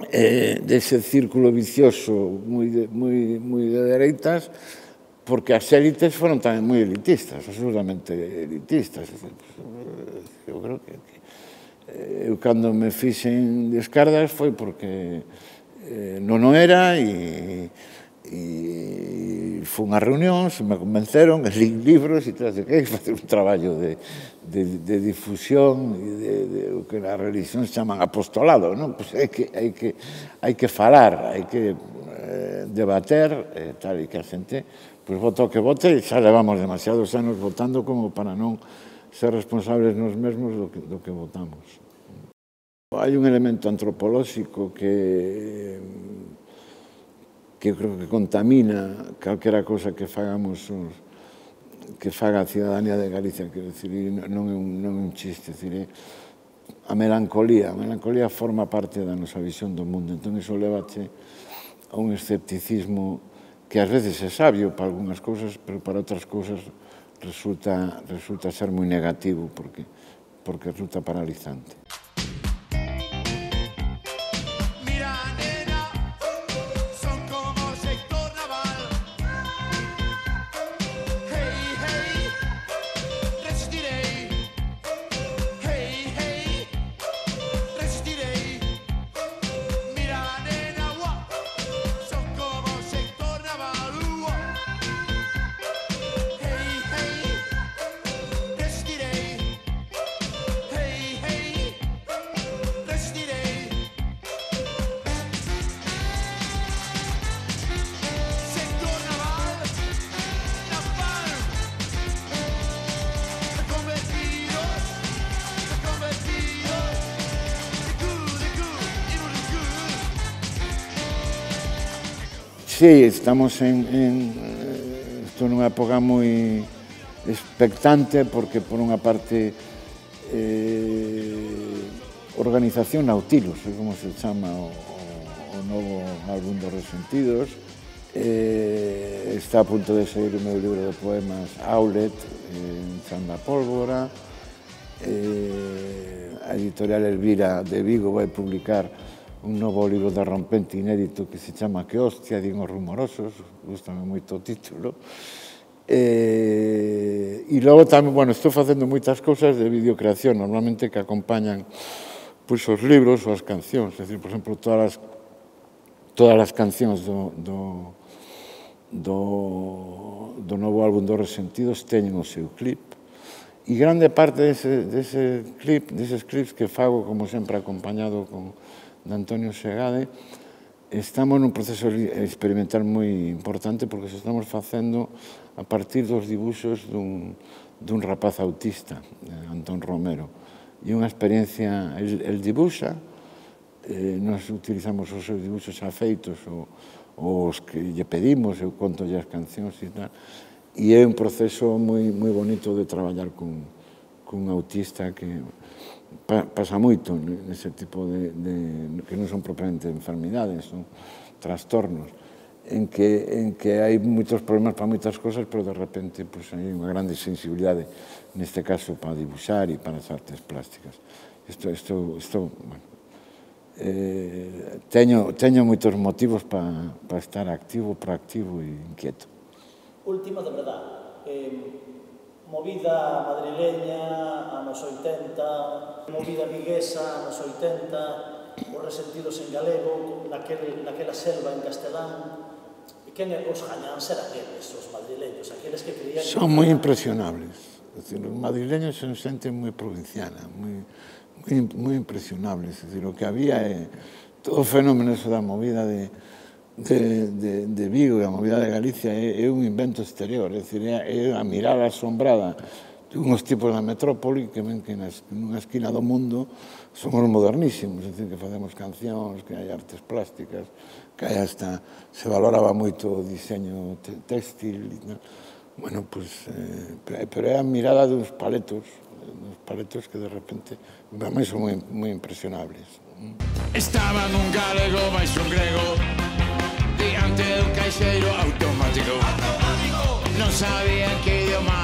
Eh, dese círculo vicioso moi de, moi, moi de dereitas, porque as élites foron tamén moi elitistas, absolutamente elitistas. Eu creo que, que eu cando me fixen de esquerdas foi porque eh, non o era e, e fui unha reunión, se me convenceron, li libros e todo, que hai que facer un traballo de, de, de difusión e de, de o que na religión se chaman apostolado, non? Pues hai que, hai que, hai que falar, hai que eh, debater, eh, tal, e que a xente pois vota o que vote e xa levamos demasiados anos votando como para non ser responsables nos mesmos do que, do que votamos. Hai un elemento antropolóxico que que eu creo que contamina calquera cosa que fagamos os, que faga a cidadanía de Galicia, quero dicir, non é un, non é un chiste, dicir, a melancolía, a melancolía forma parte da nosa visión do mundo, entón iso levache a un escepticismo que ás veces é sabio para algunhas cousas, pero para outras cousas resulta, resulta ser moi negativo, porque, porque resulta paralizante. Sí, estamos en, en isto nunha época moi expectante porque por unha parte eh, Organización Nautilus, é como se chama o, o novo álbum dos Resentidos, eh, está a punto de sair o meu libro de poemas Aulet, en Chan da Pólvora, eh, a editorial Elvira de Vigo vai publicar un novo libro de rompente inédito que se chama Que hostia, din os rumorosos, gustame moito o título. E, e logo tamén, bueno, estou facendo moitas cousas de videocreación, normalmente que acompañan pois, os libros ou as cancións, é dicir, por exemplo, todas as, todas as cancións do, do, do, do novo álbum dos Resentidos teñen o seu clip, e grande parte dese, dese clip, deses clips que fago, como sempre, acompañado con de Antonio Segade, estamos nun proceso experimental moi importante porque se estamos facendo a partir dos dibuxos dun, dun rapaz autista, Antón Romero. E unha experiencia, el, el dibuxa, eh, nos utilizamos os seus dibuxos afeitos, o, os que lle pedimos, eu conto as cancións e tal, e é un proceso moi, moi bonito de traballar con, con un autista que Pa, pasa moito nese tipo de, de que non son propiamente enfermidades, son trastornos, en que, en que hai moitos problemas para moitas cosas, pero de repente pues, hai unha grande sensibilidade, neste caso para dibuixar e para as artes plásticas. Isto, isto, isto bueno, eh, teño, teño moitos motivos para pa estar activo, proactivo e inquieto. Última, de verdad, eh, movida madrileña, anos oitenta, movida viguesa, anos oitenta, os Resentidos en galego, naquel, naquela selva en castelán. E quen os gañan serán eles, os madrileños, aqueles que creían... Son moi impresionables. Es decir, os madrileños son xente moi provinciana, moi, moi, moi impresionables. Es decir, o que había é todo o fenómeno da movida de... De, de, de Vigo e a movida de Galicia é, é un invento exterior, é, dicir, é a mirada asombrada de uns tipos da metrópoli que ven que nunha esquina do mundo somos modernísimos, é dicir, que facemos cancións, que hai artes plásticas, que hai hasta, se valoraba moito o diseño textil, bueno, pois, eh, pero é a mirada dos paletos, dos paletos que de repente, para mí son moi, moi impresionables. Estaba nun galego máis un grego diante dun caixeiro automático. Non sabían que idioma